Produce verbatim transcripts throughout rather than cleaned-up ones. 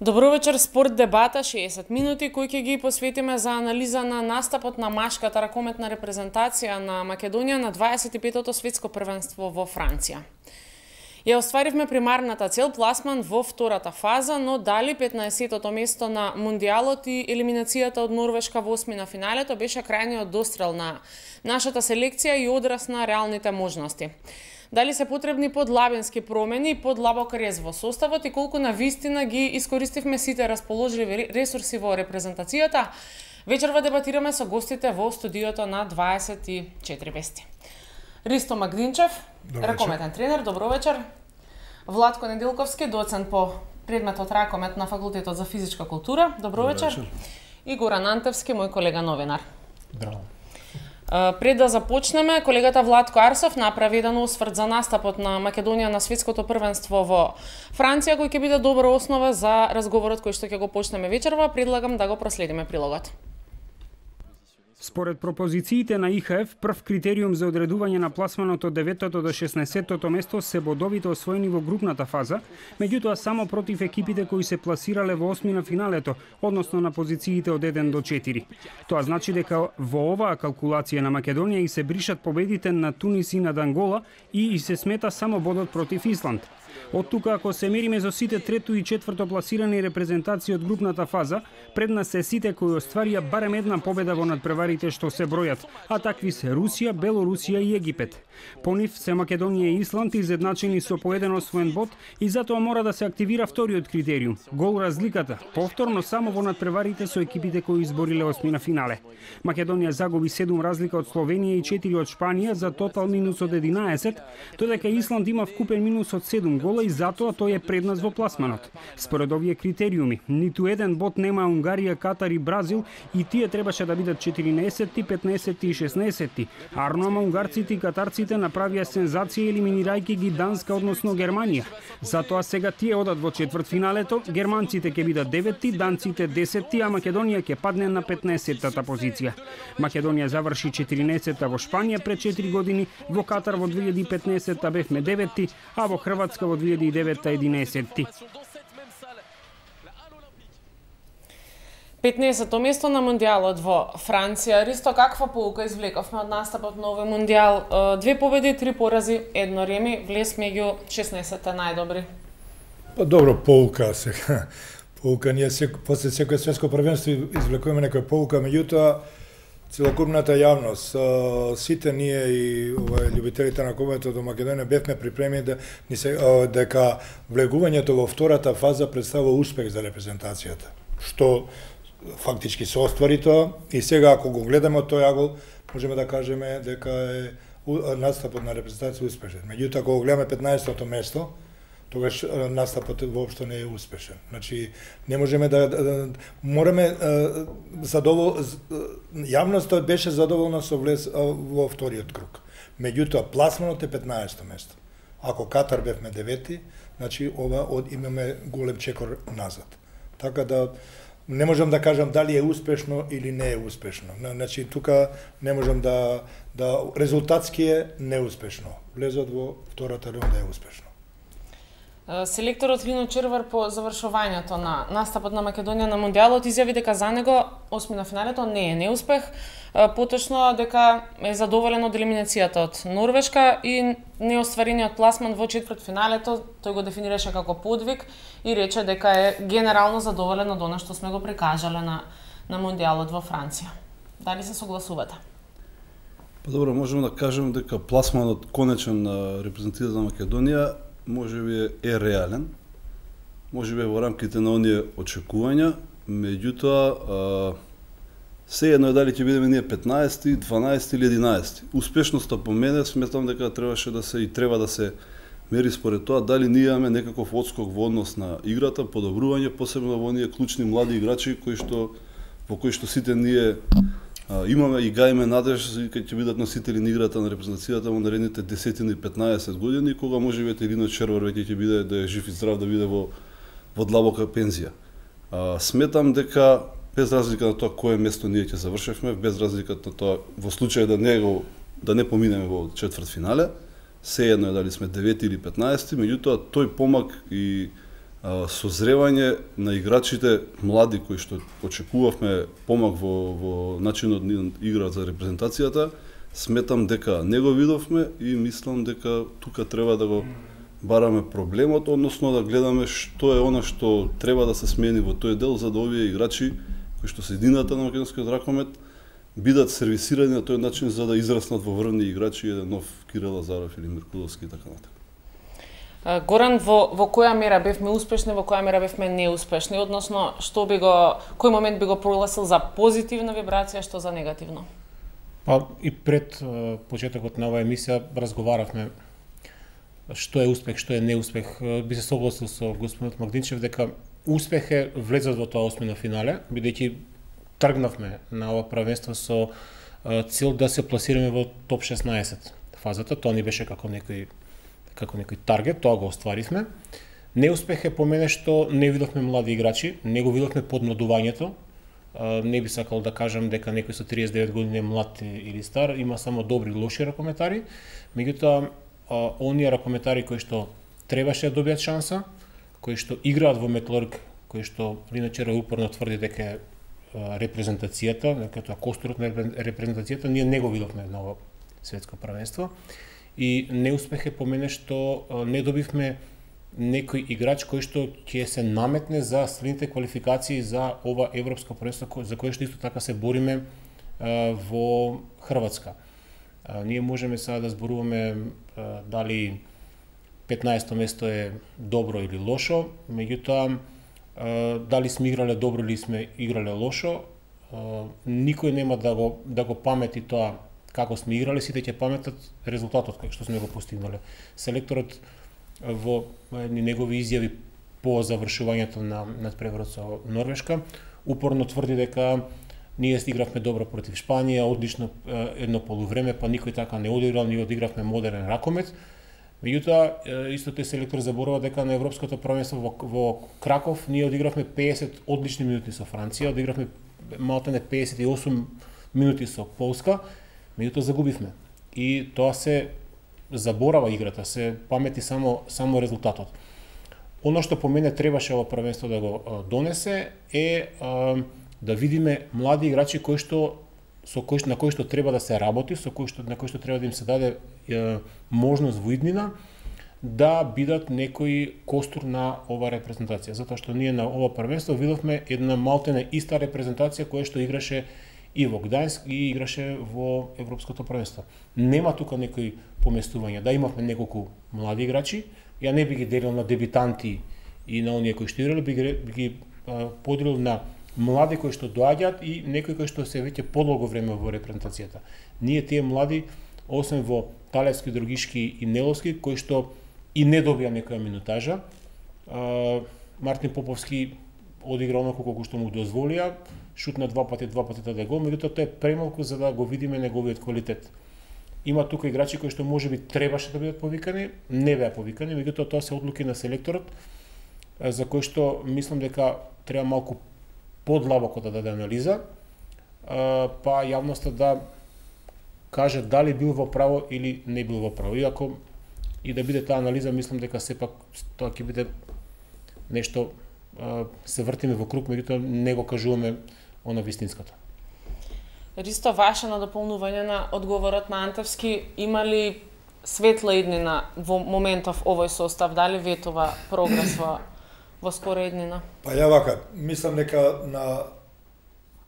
Добро вечер, спорт дебата, шеесет минути кои ќе ги посветиме за анализа на настапот на машката ракометна репрезентација на Македонија на дваесет и петото светско првенство во Франција. Ја остваривме примарната цел пласман во втората фаза, но дали петнаесеттото место на Мундијалот и елиминацијата од Норвешка во осми на финалето беше крајниот дострел на нашата селекција и одраз на реалните можности. Дали се потребни подлабенски промени, подлабок рез во составот и колку на вистина ги искористивме сите расположливи ресурси во репрезентацијата, вечерва дебатираме со гостите во студиото на дваесет и четири вести. Ристо Магдинчев, ракометен тренер, добро вечер. Владко Неделковски, доцент по предметот ракомет на факултетот за физичка култура, добро, добро вечер. вечер. И Горан Антевски, мој колега новинар. Браво. Пред да започнеме, колегата Владко Арсов направи еден осврт за настапот на Македонија на светското првенство во Франција, кој ќе биде добра основа за разговорот кој што ќе го почнеме вечерва. Предлагам да го проследиме прилогот. Според пропозициите на И Х Ф, прв критериум за одредување на пласманот од деветото до шеснаесеттото место се бодовите освоени во групната фаза, меѓутоа само против екипите кои се пласирале во осми на финалето, односно на позициите од еден до четири. Тоа значи дека во оваа калкулација на Македонија и се бришат победите на Тунис и на Ангола и, и се смета само бодот против Исланд. Од тука, ако се мериме за сите трето и четврто пласирани репрезентации од групната фаза, пред нас се сите кои остварија барем една победа во надпреварите што се бројат, а такви се Русија, Белорусија и Египет. По нив се Македонија и Исланд изедначени со по еден освоен бод и затоа мора да се активира вториот критериум – гол разликата, повторно само во надпреварите со екипите кои избориле осми на финале. Македонија загуби седум разлика од Словенија и четири од Шпанија за тотал минус од единаесет, додека Исланд има вкупен минус од седум гола и затоа тој е пред нас во пласманот. Според овие критериуми, ниту еден бод нема Унгарија, Катар и Бразил и тие требаше да бидат четиринаесетти, петнаесетти и шеснаесетти. Арно унгарците и катарците направија сензација елиминирајќи ги Данска, односно Германија. Затоа сега тие одат во четвртфиналето, германците ќе бидат деветти, данците десетти, а Македонија ќе падне на петнаесеттата позиција. Македонија заврши четиринаесетта во Шпанија пред четири години, во Катар во две илјади и петнаесетта бевме деветти, а во Хрватска во две илјади и деветта единаесетти. петнаесетто место на Мундијалот во Франција. Ристо, каква поука извлековме од настапот на овој Мундијал? Две победи, три порази, едно реми, влез меѓу шеснаесетте најдобри. Па добро, поука сега. Поука ние се после секој светско првенство извлекуваме некоја поука, меѓутоа целокупната јавност, сите ние и ова љубителите на ракометот до Македонија бевме припремени да ни се дека влегувањето во втората фаза представува успех за репрезентацијата, што фактички се оствари тоа и сега ако го гледаме тој агол можеме да кажеме дека е настапот на репрезентација успешен. Меѓутоа ако го гледаме петнаесеттото место, тогаш настапот воопшто не е успешен. Значи не можеме да, да, да мораме задовол јавноста беше задоволна со влез во вториот круг. Меѓутоа пласманот е петнаесетто место. Ако Катар бевме деветти, значи ова од имаме голем чекор назад. Така да не можам да кажам дали е успешно или не е успешно. Значи тука не можам да да резултатски е неуспешно. Влезот во втората рунда е успешно. Селекторот Лино Червар по завршувањето на настапот на Македонија на Мундијалот изјави дека за него осми на финалето не е неуспех, поточно дека е задоволен од елиминацијата од Норвешка и неостварениот пласман во четвртфиналето. Тој го дефинираше како подвиг и рече дека е генерално задоволен од она што сме го прикажале на на Мундијалот во Франција. Дали се согласувате? Па добро, можеме да кажеме дека пласманот конечен на репрезентацијата на Македонија можеби е реален, можеби во рамките на оние очекувања, меѓутоа сеедно е дали ќе бидеме ние петнаесети, дванаесети или единаесети. Успешноста по мене сметам дека требаше да се и треба да се мери според тоа дали ние имаме некаков отскок во однос на играта, подобрување, посебно во оние клучни млади играчи кои што во кои што сите ние а, имаме и гајме надеж кога ќе бидат носители на играта на репрезентацијата во наредните десет и петнаесет години, кога може би Лино Червар веќе ќе биде да е жив и здрав, да биде во во длабока пензија. А, сметам дека без разлика на тоа кое место ние ќе завршевме, без разлика на тоа во случај да не го да не поминеме во четвртфинале, сеедно е дали сме девети или петнаесети, меѓутоа тој помак и созревање на играчите млади кои што очекувавме помак во во начинот на игра за репрезентацијата, сметам дека не го видовме и мислам дека тука треба да го бараме проблемот, односно да гледаме што е она што треба да се смени во тој дел за да овие играчи кои што се едината на македонскиот ракомет бидат сервисирани на тој начин за да израснат во врвни играчи, еден нов Кирил Лазаров или Миркуловски и така натаму. Горан, во, во која мера бевме успешни, во која мера бевме неуспешни, односно што би го, кој момент би го прогласил за позитивна вибрација, што за негативно? Па и пред почетокот на оваа емисија разговаравме што е успех, што е неуспех. Би се согласил со господинот Магдинчев дека успех е влезот во тоа осмина финале, бидејќи тргнавме на ова правенство со цел да се пласираме во топ шеснаесет фазата, тоа ни беше како некој како некој таргет, тоа го остваривме. Неуспех е по мене што не видовме млади играчи, не го видовме подмладувањето. Не би сакал да кажам дека некој со триесет и девет години е млад или стар, има само добри и лоши ракометари, меѓутоа оние ракометари кои што требаше да добијат шанса, кои што играат во Металург, кои што иначе упорно тврди дека е репрезентацијата, дека тоа костурот на репрезентацијата, ние не го видовме на ова светско првенство. И неуспех е по мене што не добивме некој играч кој што ќе се наметне за следните квалификации за ова европско првенство за кое што исто така се бориме во Хрватска. Ние можеме сега да зборуваме дали петнаесетто место е добро или лошо, меѓутоа дали сме играле добро или сме играле лошо, никој нема да го да го памети тоа како сме играле, сите ќе паметат резултатот кој што сме го постигнале. Селекторот во едни негови изјави по завршувањето на надпреварот со Норвешка упорно тврди дека ние игравме добро против Шпанија, одлично едно полувреме, па никој така не одиграл, ние одигравме модерен ракомет. Меѓутоа, исто тој селектор заборува дека на европското првенство во, во Краков ние одигравме пеесет одлични минути со Франција, одигравме малтене пеесет и осум минути со Полска, меѓутоа загубивме. И тоа се заборава играта, се памети само само резултатот. Оно што по мене требаше ова првенство да го а, донесе е а, да видиме млади играчи кои што со кои на кои што треба да се работи, со кои што на кои што треба да им се даде е, можност во иднина да бидат некој костур на ова репрезентација, затоа што ние на ова првенство видовме една малтене иста репрезентација која што играше и во Гдајск и играше во европското првенство. Нема тука некои поместување, да имавме неколку млади играчи, ја не би ги делил на дебитанти и на оние кои што играле, би ги, би ги а, поделил на млади кои што доаѓаат и некои кои што се веќе подолго време во репрезентацијата. Ние тие млади, освен во Талевски, Другишки и Неловски, кои што и не добија некоја минутажа, а, Мартин Поповски одигра оноко колку што му дозволија, шутна два пати, два пати даде гол, меѓутоа тоа е премалку за да го видиме неговиот квалитет. Има тука играчи кои што можеби требаше да бидат повикани, не беа повикани, меѓутоа тоа се одлуки на селекторот, за кој што мислам дека треба малку подлабоко да даде анализа, па јавноста да каже дали бил во право или не бил во право. Иако и да биде таа анализа, мислам дека сепак тоа ќе биде нешто, се вртиме во круг, меѓутоа не го кажуваме оно вистинското. Ристо, ваше на дополнување на одговорот на Антевски, има ли светла иднина во моментов овој состав, дали ветува прогрес во, во скора иднина? Па ја вака, мислам дека на,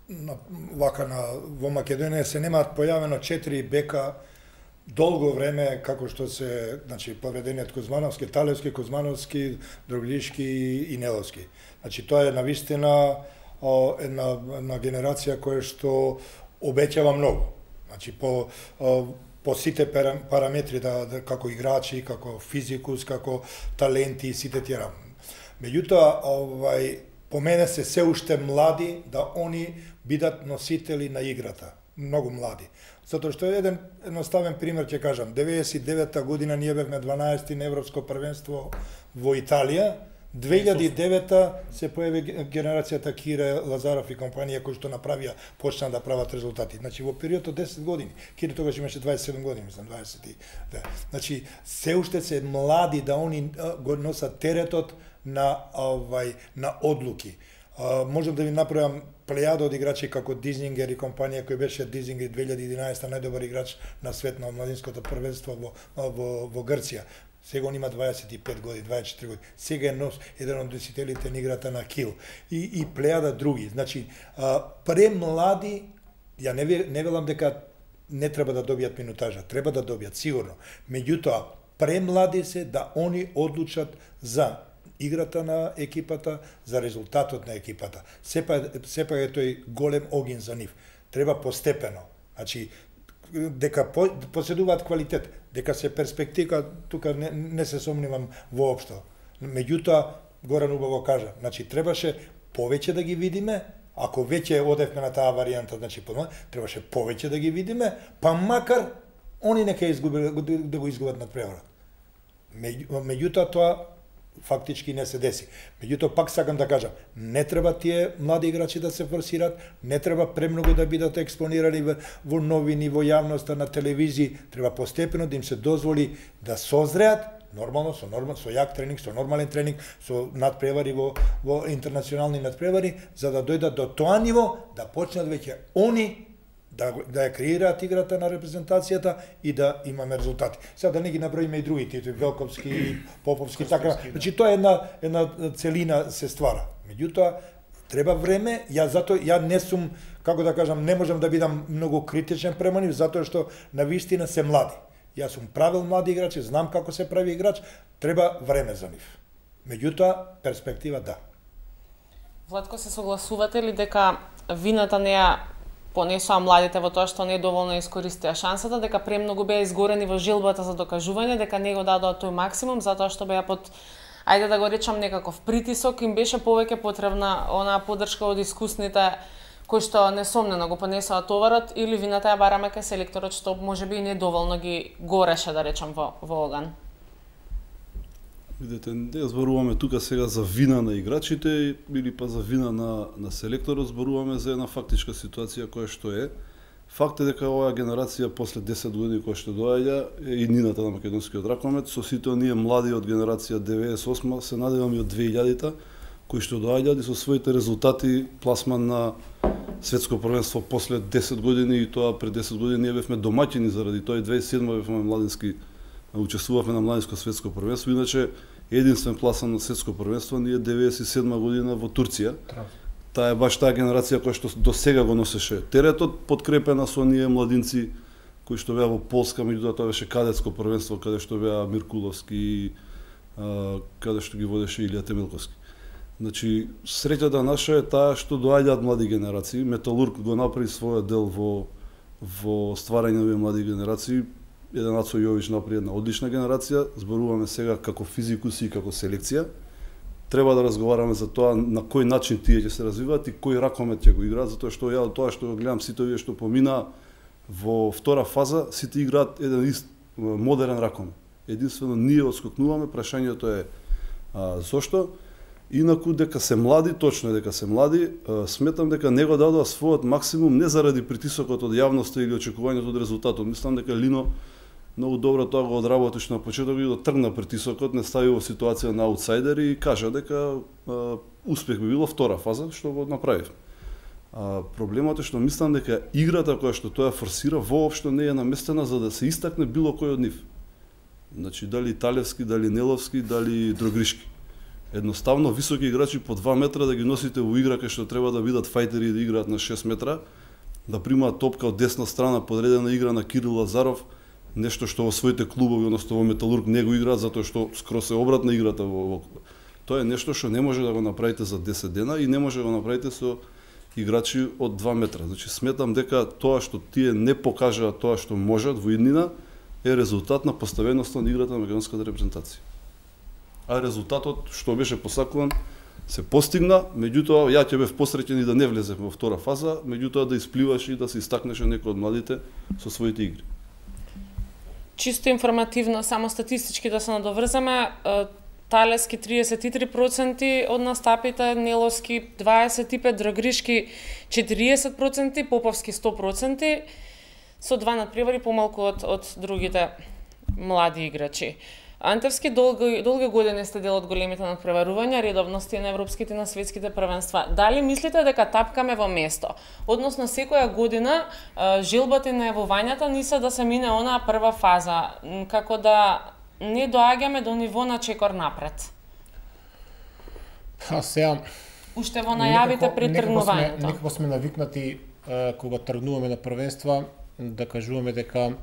на вака на во Македонија се немаат појавено четири бека долго време, како што се, значи, поведениот Кузмановски, Талевски, Кузмановски, Другишки и Неловски. Значи, тоа е навистина о, една, една генерација која што обеќава многу. Значи, по, о, по сите параметри, да, да, како играчи, како физикус, како таленти и сите тие работи. Меѓутоа, овај, по мене се се уште млади да они бидат носители на играта. Многу млади. Затоа што еден едноставен пример ќе кажам. деветдесет и девета година ние бевме дванаесети на европско првенство во Италија, две илјади и девета се појави генерацијата Кире Лазаров и компанија кои што направија, почна да прават резултати. Значи во период од десет години, Кире тогаш имаше дваесет и седум години, мислам дваесет и две. Значи се уште се млади да они го носат теретот на овај на одлуки. Uh, можам да ви направам плејада од играчи како Дизингер и компанија кој беше Дизингер две илјади и единаесета најдобар играч на свет на младинското првенство во, во, во Грција. Сега он има дваесет и пет години, дваесет и четири години. Сега е нос еден од носителите на играта на Кил. И, и плејада други. Значи, uh, премлади, ја не, не велам дека не треба да добијат минутажа, треба да добијат, сигурно. Меѓутоа, премлади се да они одлучат за играта на екипата, за резултатот на екипата. Сепак, сепак е тој голем огин за нив. Треба постепено. Значи, дека по, поседуваат квалитет, дека се перспектива, тука не, не се сомневам воопшто. Меѓутоа, Горан убаво кажа, значи, требаше повеќе да ги видиме, ако веќе одевме на таа варијанта, значи, требаше повеќе да ги видиме, па макар они нека изгубили, да го изгубат надпреварот. Меѓутоа, тоа фактички не се деси. Меѓутоа, пак сакам да кажам, не треба тие млади играчи да се форсираат, не треба премногу да бидат експонирани во новини, во јавноста, на телевизии, треба постепено да им се дозволи да созреат, нормално, со нормал, со ја тренинг, со нормален тренинг, со надпревари во, во интернационални надпревари, за да дојдат до тоа ниво, да почнат веќе они да, да ја креираат играта на репрезентацијата и да имаме резултати. Сега да не ги наброиме и други титули, Велковски, Поповски, така. Значи тоа е една една целина се ствара. Меѓутоа треба време, ја затоа ја не сум, како да кажам, не можам да бидам многу критичен према нив, затоа што на вистина се млади. Јас сум правил млади играчи, знам како се прави играч, треба време за нив. Меѓутоа перспектива да. Владко, се согласувате ли дека вината не ја понесоа младите во тоа што не доволно искористија шансата, дека премногу беа изгорени во жилбата за докажување, дека не го дадоа тој максимум, затоа што беа под, ајде да го речам, некаков притисок, им беше повеќе потребна онаа поддршка од искусните кои што несомнено го понесоа товарот, или вината ја бараме кај селекторот што можеби и недоволно ги гореше, да речам, во, во оган? Видете, не зборуваме тука сега за вина на играчите или па за вина на, на селекторот, зборуваме за една фактичка ситуација која што е. Факт е дека оваа генерација после десет години која што доаѓа е иднината на македонскиот ракомет, со сите оние млади од генерација деветдесет и осма, се надевам и од две илјадите, кои што доаѓаат и со своите резултати пласман на светско првенство после десет години, и тоа пред десет години ние бевме домаќини заради тоа, и две илјади и седма бевме младински, учествувавме на младинско светско првенство, иначе единствен пласан на светско првенство ние деветдесет и седма година во Турција. Таа е баш таа генерација која што до сега го носеше теретот, подкрепена со оние младинци кои што беа во Полска, меѓутоа тоа беше кадетско првенство каде што беа Миркуловски, каде што ги водеше Илија Темелковски. Значи, среќата наша е таа што доаѓаат млади генерации. Металург го направи својот дел во во стварање на овие млади генерации. Еден Ацо Јович направи една одлична генерација, зборуваме сега како физикуси и како селекција. Треба да разговараме за тоа на кој начин тие ќе се развиваат и кој ракомет ќе го играат, затоа што ја од тоа што го гледам сите овие што помина во втора фаза, сите играат еден ист модерен ракомет. Единствено ние отскокнуваме, прашањето е а, зошто? Инаку дека се млади, точно е дека се млади, сметам дека не го дадоа својот максимум не заради притисокот од јавноста или очекувањето од резултатот. Мислам дека Лино многу добро тоа го одработи што на почеток и дотргна притисокот, не стави во ситуација на аутсайдер и кажа дека а, успех би било втора фаза, што го направив. А, проблемот е што мислам дека играта која што тоа форсира воопшто не е наместена за да се истакне било кој од нив. Значи дали Талевски, дали Неловски, дали Дрогришки. Едноставно високи играчи по два метра да ги носите во игра кај што треба да бидат фајтери и да играат на шест метра, да примаат топка од десна страна, подредена игра на Кирил Лазаров, нешто што во своите клубови, односно во Металург не го играат затоа што скроз е обратна играта во, во... Тоа е нешто што не може да го направите за десет дена и не може да го направите со играчи од два метра. Значи сметам дека тоа што тие не покажаа тоа што можат во иднина е резултат на поставеноста на играта на македонската репрезентација. А резултатот што беше посакуван се постигна, меѓутоа ја ќе бев посреќен и да не влезев во втора фаза, меѓутоа да испливаш и да се истакнеше некој од младите со своите игри. Чисто информативно, само статистички да се надоврзаме, Талески триесет и три проценти од настапите, Неловски дваесет и пет, Драгришки четириесет проценти, Поповски сто проценти, со два надпревари помалку од, од другите млади играчи. Антевски долги, долги години сте дел од големите надпреварувања, редовности на европските и на светските првенства. Дали мислите дека тапкаме во место? Односно, секоја година желбата и најавувањата ни се да се мине онаа прва фаза, како да не доаѓаме до ниво на чекор напред. А сега уште во најавите пред тргнувањето. Некако сме навикнати кога тргнуваме на првенства да кажуваме дека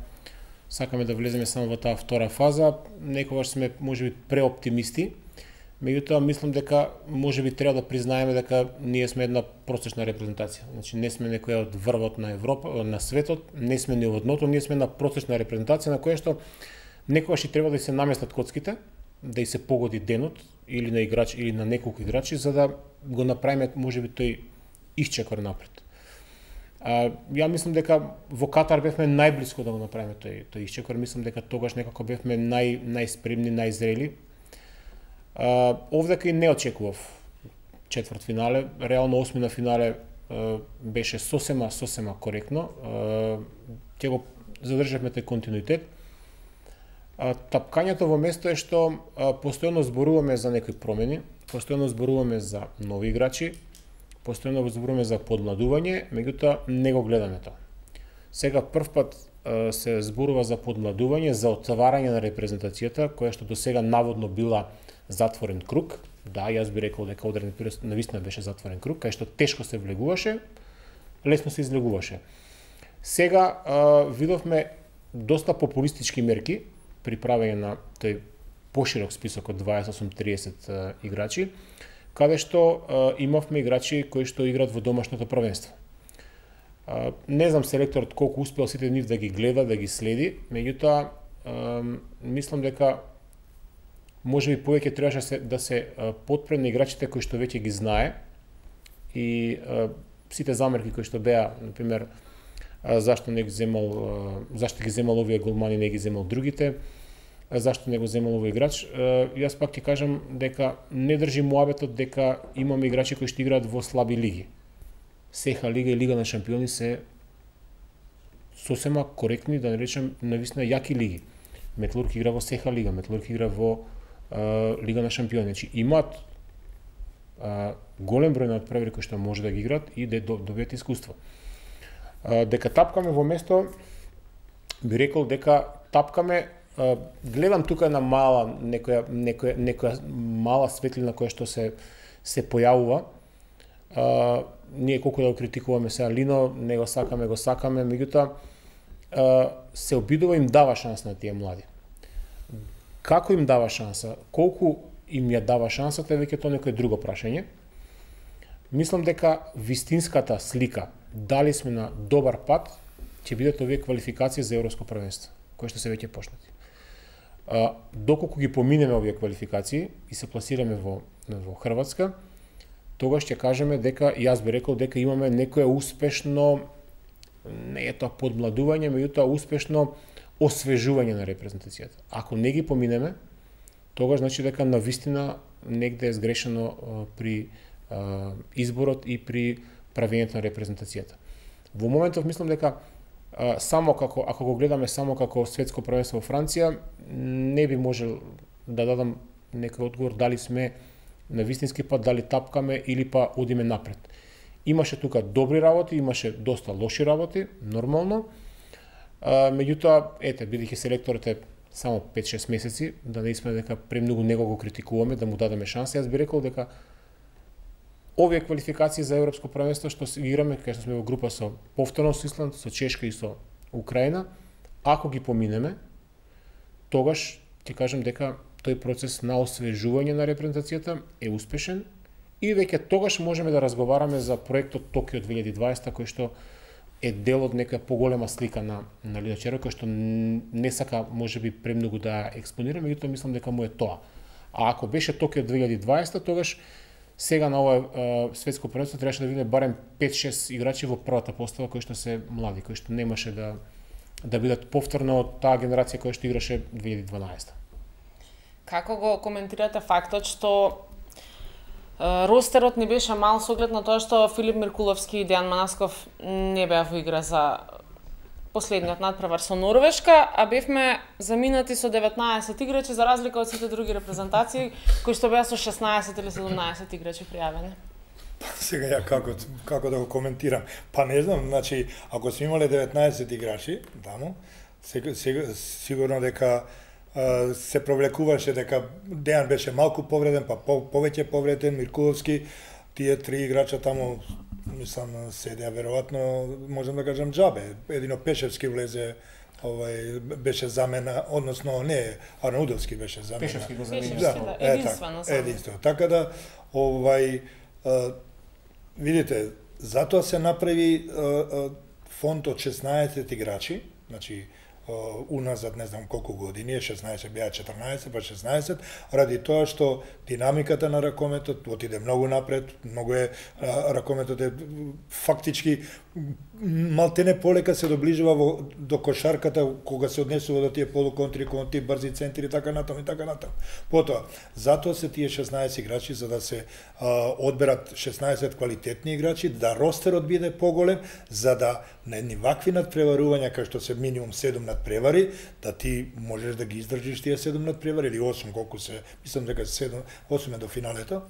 сакаме да влеземе само во таа втора фаза, некогаш сме можеби преоптимисти. Меѓутоа мислам дека можеби треба да признаеме дека ние сме една просечна репрезентација. Значи не сме некоја од врвот на Европа, на светот, не сме ни од дното, ние сме една просечна репрезентација на која што некогаш и треба да се наместат коцките, да и се погоди денот или на играч или на неколку играчи за да го направиме можеби тој исчекор напред. А, ја мислам дека во Катар бевме најблиско да го направиме тој тој исчекор, мислам дека тогаш некако бевме нај најспремни, најзрели. А, овдека и не очекував четврт финале, реално осмина финале а, беше сосема сосема коректно. А, ќе го задржавме тој континуитет. А, тапкањето во место е што а, постојано зборуваме за некои промени, постојано зборуваме за нови играчи, постојано зборуваме за подмладување, меѓутоа не го гледаме тоа. Сега прв пат а, се зборува за подмладување, за отварање на репрезентацијата, која што до сега наводно била затворен круг. Да, јас би рекол дека одреден период навистина беше затворен круг, кај што тешко се влегуваше, лесно се излегуваше. Сега а, видовме доста популистички мерки при правење на тој поширок список од дваесет осум триесет играчи, каде што а, имавме играчи кои што играат во домашното првенство. А, не знам селекторот колку успеал сите нив да ги гледа, да ги следи, меѓутоа а, мислам дека можеби повеќе требаше се, да се а, потпре на играчите кои што веќе ги знае и а, сите замерки кои што беа, например, а, зашто не ги земал, а, зашто ги земал овие голмани, не ги земал другите, зашто не го земал овој играч. Јас пак ќе кажам дека не држи муабетот дека имаме играчи кои што играат во слаби лиги. Сеха лига и Лига на шампиони се сосема коректни, да не речем навистина јаки лиги. Металург игра во Сеха лига, Металург игра во а, Лига на шампиони. Значи имаат а, голем број на надпревари кои што може да ги играат и да добијат искуство. А, дека тапкаме во место, би рекол дека тапкаме. Uh, гледам тука на мала некоја некоја некоја мала светлина која што се се појавува. Uh, ние колку да го критикуваме сега Лино, не го сакаме, го сакаме, меѓутоа uh, се обидува им дава шанса на тие млади. Како им дава шанса, колку им ја дава шансата е веќе тоа некој друго прашање. Мислам дека вистинската слика дали сме на добар пат ќе бидат овие квалификации за европско првенство, кои што се веќе почнати. А, доколку ги поминеме овие квалификации и се пласираме во, во Хрватска, тогаш ќе кажеме дека, јас би рекол дека имаме некое успешно, не е тоа подмладување, меѓутоа успешно освежување на репрезентацијата. Ако не ги поминеме, тогаш значи дека навистина негде е сгрешено а, при а, изборот и при правењето на репрезентацијата. Во моментов мислам дека Uh, само како, ако го гледаме само како светско првенство во Франција, не би можел да дадам некој одговор дали сме на вистински пат, дали тапкаме или па одиме напред. Имаше тука добри работи, имаше доста лоши работи, нормално. Uh, меѓутоа, ете, бидејќи селекторот е само пет-шест месеци, да не сме дека премногу него го критикуваме, да му дадеме шанса, јас би рекол дека овие квалификации за европско првенство што ги играме, кај што сме во група со повторно со Исланд, со Чешка и со Украина, ако ги поминеме, тогаш ќе кажам дека тој процес на освежување на репрезентацијата е успешен и веќе тогаш можеме да разговараме за проектот Токио две илјади и дваесета, кој што е дел од некоја поголема слика на на Лино Черо, кој што не сака можеби премногу да експонира, меѓутоа мислам дека му е тоа. А ако беше Токио две илјади и дваесета, тогаш сега на ова светско првенство требаше да видиме барем пет-шест играчи во првата постава кои што се млади, кои што немаше да да бидат повторно од таа генерација која што играше две илјади и дванаесета. Како го коментирате фактот што ростерот не беше мал со оглед на тоа што Филип Миркуловски и Дејан Манасков не беа во игра за последниот надпревар со Норвешка, а бевме заминати со деветнаесет играчи за разлика од сите други репрезентации кои што беа со шеснаесет или седумнаесет играчи пријавени. Сега ја како како да го коментирам? Па не знам, значи ако сме имале деветнаесет играчи таму, сега, сега сигурно дека а, се провлекуваше дека Дејан беше малку повреден, па по, повеќе повреден, Миркуловски, тие три играча таму мислам седеа веројатно, можам да кажам џабе. Едино Пешевски влезе, овај беше замена, односно не, Арнаудовски беше замена. Пешевски го замени. Да, да, единствено. Е, единствено. Така да овај а, видите, затоа се направи а, а, фонд од шеснаесет играчи, значи уназад не знам колку години, шеснаесет беа четрнаесет, па шеснаесет, ради тоа што динамиката на ракометот отиде многу напред, многу е ракометот е фактички малтене полека се доближува во, до кошарката кога се однесува до тие полуконтри, кон тие брзи центри и така натаму и така натаму. Потоа, затоа се тие шеснаесет играчи за да се а, одберат шеснаесет квалитетни играчи, да ростерот биде поголем, за да на едни вакви надпреварувања кај што се минимум седум надпревари, да ти можеш да ги издржиш тие седум надпревари или осум колку се, мислам дека седум, осум е до финалето,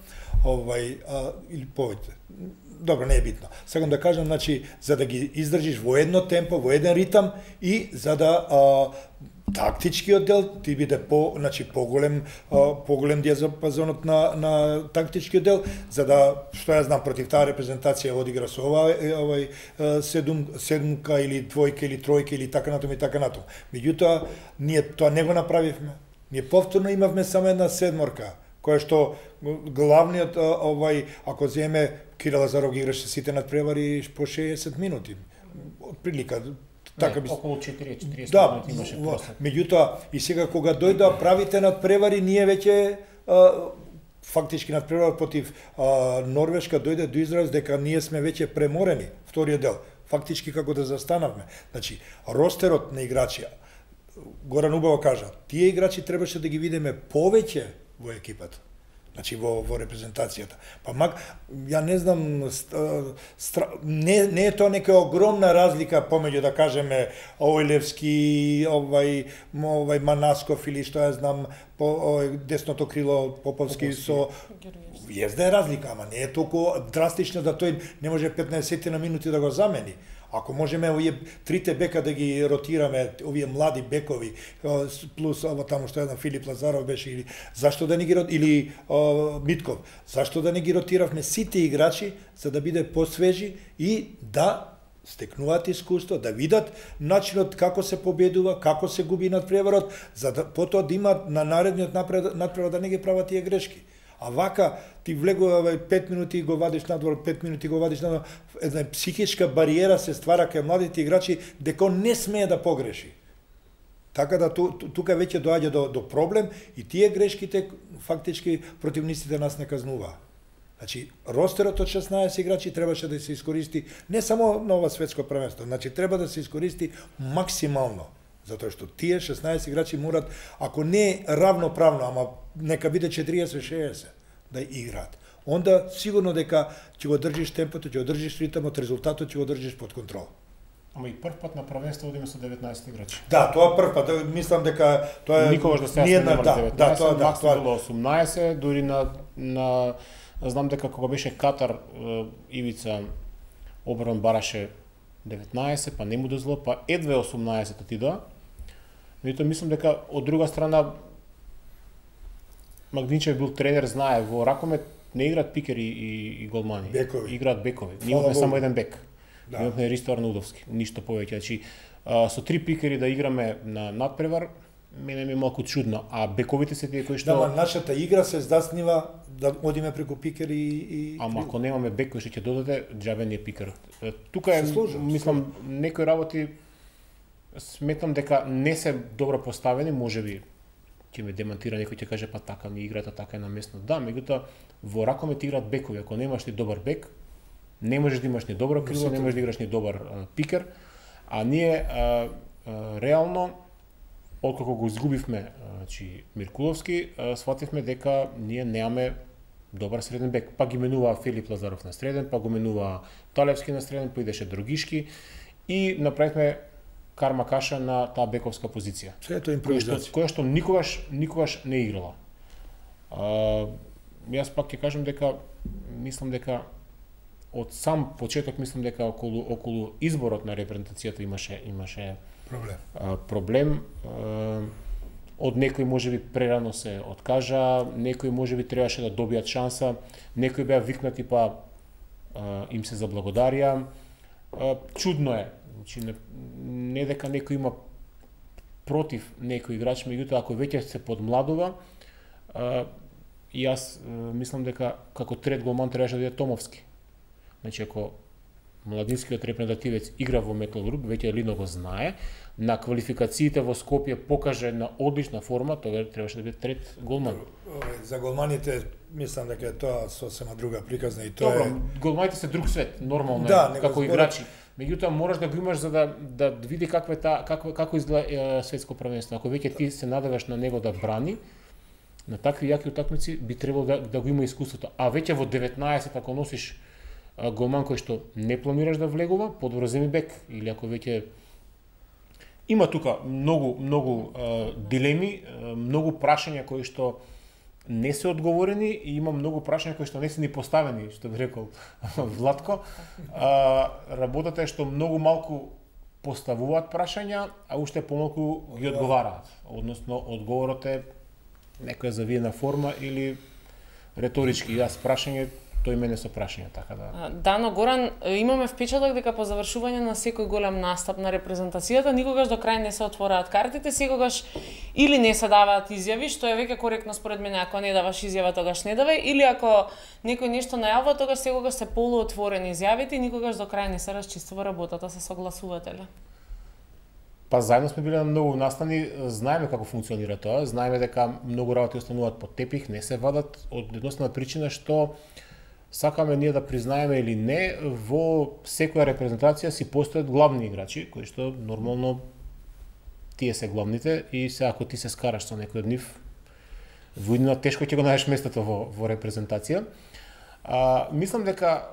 овај а, или повеќе. Добро, не е битно. Сакам да кажам, значи, за да ги издржиш во едно темпо, во еден ритам и за да а, тактичкиот дел ти биде по, значи поголем а, поголем диапазонот на на тактичкиот дел, за да што ја знам против таа репрезентација одигра со ова овај седум седумка или двојка или тројка или така натаму и така натаму. Меѓутоа ние тоа не го направивме. Ние повторно имавме само една седморка, која што главниот овај ако земе Кирил Лазаров ги играше сите надпревари по шеесет минути. Отприлика така би околу четириесет четириесет да, минути имаше просек. Меѓутоа и сега кога дојде правите надпревари, ние веќе а, фактички надпревар против а, Норвешка дојде до израз дека ние сме веќе преморени вториот дел. Фактички како да застанавме. Значи, ростерот на играчи, Горан убаво кажа, тие играчи требаше да ги видиме повеќе во екипата. Значи во во репрезентацијата. Па мак ја не знам стра, не не е тоа нека огромна разлика помеѓу да кажеме Ојлевски, овај овај Манасков или што ја знам по овај десното крило Поповски, Поповски. Со језда е разлика, ама не е толку драстично да тој не може петнаесет на минути да го замени. Ако можеме овие трите бека да ги ротираме, овие млади бекови, плюс ово таму што една Филип Лазаров беше, или зашто да не ги или о, Митков, зашто да не ги ротиравме сите играчи за да биде посвежи и да стекнуваат искуство, да видат начинот како се победува, како се губи надпреварот, за да потоа да имаат на наредниот надпревар да не ги прават тие грешки. А вака ти влегува пет минути го вадиш надвор, пет минути го вадиш надвор, една психичка бариера се ствара кај младите играчи дека не смее да погреши. Така да ту, ту, тука веќе доаѓа до, до проблем и тие грешките фактички противниците нас не казнуваа. Значи, ростерот од шеснаесет играчи требаше да се искористи не само на ова светско првенство, значи треба да се искористи максимално. Затоа што тие шеснаесет играчи морат, ако не равноправно, ама нека биде четириесет шеесет да играат. Онда сигурно дека ќе го држиш темпото, ќе го држиш ритмот, резултатот ќе го држиш под контрол. Ама и прв пат на првенство одиме со деветнаесет играчи. Да, тоа прв пат, мислам дека тоа е никогаш до сега сме немале да, деветнаесет, да, тоа, да, максимум тоа... било осумнаесет, дури на на знам дека кога беше Катар, Ивица Обран бараше деветнаесет, па не му дозволо, па едве осумнаесет отидоа. Меѓутоа мислам дека од друга страна Магдинчев бил тренер, знае во ракомет не играат пикери и, и голмани, бекови. Играат бекови. Ние имаме само еден бек. Да. Имаме Ристо Арнаудовски, ништо повеќе. Значи со три пикери да играме на надпревар, мене ми е малку чудно, а бековите се тие кои што Да, нашата игра се здаснива да одиме преку пикер и, и... Ама ако немаме бек кој што ќе додаде, џабе не е пикер. Тука е, служам, мислам, некои работи сметам дека не се добро поставени, можеби ќе ме демантира некој ќе каже па така ми играта така е наместно. Да, меѓутоа во ракомет играат бекови, ако немаш ни добар бек, не можеш да имаш ни добро крило, не можеш да играш ни добар а, пикер, а ние а, а, реално откако го изгубивме а, значи Миркуловски, свативме дека ние немаме добар среден бек. Па ги менува Филип Лазаров на среден, па го менува Талевски на среден, па идеше Другишки и направивме Карма Каша на таа бековска позиција. Сето импровизација. Која што никогаш никогаш не играла. А, јас пак ќе кажам дека мислам дека од сам почеток мислам дека околу околу изборот на репрезентацијата имаше имаше проблем. А, проблем а, од некои можеби прерано се откажа, некои можеби требаше да добијат шанса, некои беа викнати па а, им се заблагодарија. А, чудно е, значи не, не дека некој има против некој играч, меѓутоа ако веќе се подмладува, а, и јас а, мислам дека како трет голман требаше да биде Томовски. Значи ако младинскиот репрезентативец игра во Металург, веќе Лино го знае, на квалификациите во Скопје покаже на одлична форма, тоа требаше да биде трет голман. За голманите мислам дека е тоа сосема друга приказна и тоа Добро, е... голманите се друг свет, нормално да, е, како зборат... играчи. Меѓутоа мораш да го имаш за да да види каква е таа како како изгледа е, светско првенство. Ако веќе ти се надеваш на него да брани, на такви јаки утакмици би требало да, да го има искуството. А веќе во деветнаесет ако носиш а, голман кој што не планираш да влегува, подобро земи бек, или ако веќе има тука многу многу а, дилеми, а, многу прашања кои што не се одговорени и има многу прашања кои што не се ни поставени, што би рекол Владко. А, работата е што многу малку поставуваат прашања, а уште помалку ги одговараат. Односно, одговорот е некоја завиена форма или реторички. Јас прашање, тој мене со прашање, така да. Дано Горан, имаме впечаток дека по завршување на секој голем настап на репрезентацијата никогаш до крај не се отвораат картите, секогаш или не се даваат изјави, што е веќе коректно според мене, ако не даваш изјава тогаш не давај, или ако некој нешто најавува, тогаш секогаш се полуотворени изјавите и никогаш до крај не се расчистува работата, се согласувате ли? Па заедно сме биле на многу настани, знаеме како функционира тоа, знаеме дека многу работи остануваат под тепих, не се вадат од едноставна причина што сакаме ние да признаеме или не, во секоја репрезентација си постојат главни играчи, кои што нормално тие се главните и се ако ти се скараш со некој од нив, во иднина тешко ќе го најдеш местото во, во репрезентација. А, мислам дека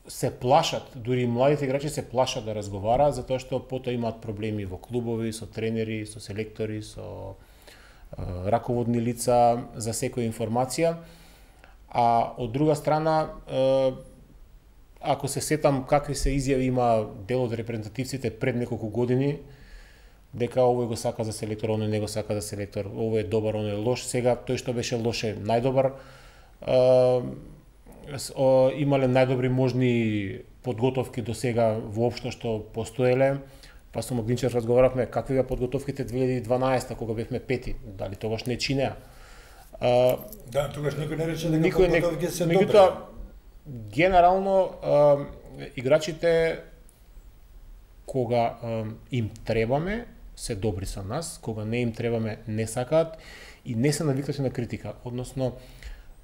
се плашат, дури и младите играчи се плашат да разговараат, затоа што потоа имаат проблеми во клубови, со тренери, со селектори, со а, раководни лица за секоја информација. А од друга страна, е, ако се сетам какви се изјави има дел од репрезентативците пред неколку години, дека овој го сака за селектор, оној не го сака за селектор, овој е добар, оној е лош, сега тој што беше лош е најдобар, е, имале најдобри можни подготовки до сега воопшто што постоеле, па со Магдинчев разговаравме какви беа подготовките две илјади и дванаесета кога бевме пети, дали тогаш не чинеа. Uh, да, тогаш никој не рече дека подготовки се добри. Меѓутоа, генерално, uh, играчите, кога uh, им требаме, се добри со нас, кога не им требаме, не сакаат и не се навикнати на критика. Односно,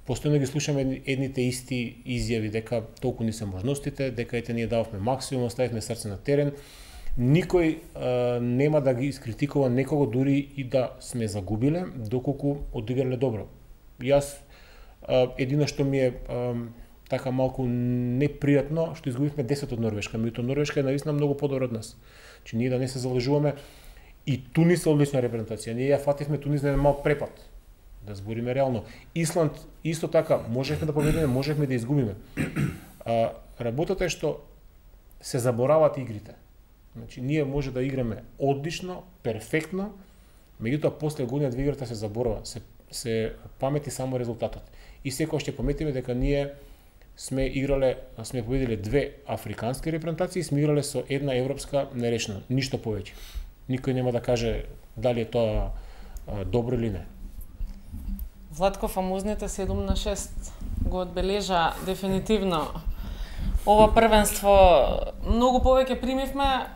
постојано ги слушаме едните исти изјави дека толку ни се можностите, дека ете ние дававме максимум, оставивме срце на терен. Никој а, нема да ги искритикува некого дури и да сме загубиле, доколку одиграле добро. Јас а, едино што ми е а, така малку непријатно, што изгубивме десет од Норвешка, меѓутоа Норвешка е наистина многу подобра од нас. Че ние да не се залажуваме и Тунис е одлична репрезентација. Ние ја фативме Тунис на еден мал препад. Да збориме реално. Исланд исто така можевме да победиме, можевме да изгубиме. А, работата е што се забораваат игрите. Значи, ние може да играме одлично, перфектно, меѓутоа после година две играта се заборава, се, се памети само резултатот. И секој ќе паметиме дека ние сме играле, сме победиле две африкански репрезентации, сме играле со една европска нерешена, ништо повеќе. Никој нема да каже дали е тоа а, добро или не. Владко, фамозните седум на шест го одбележа дефинитивно ова првенство. Многу повеќе примивме,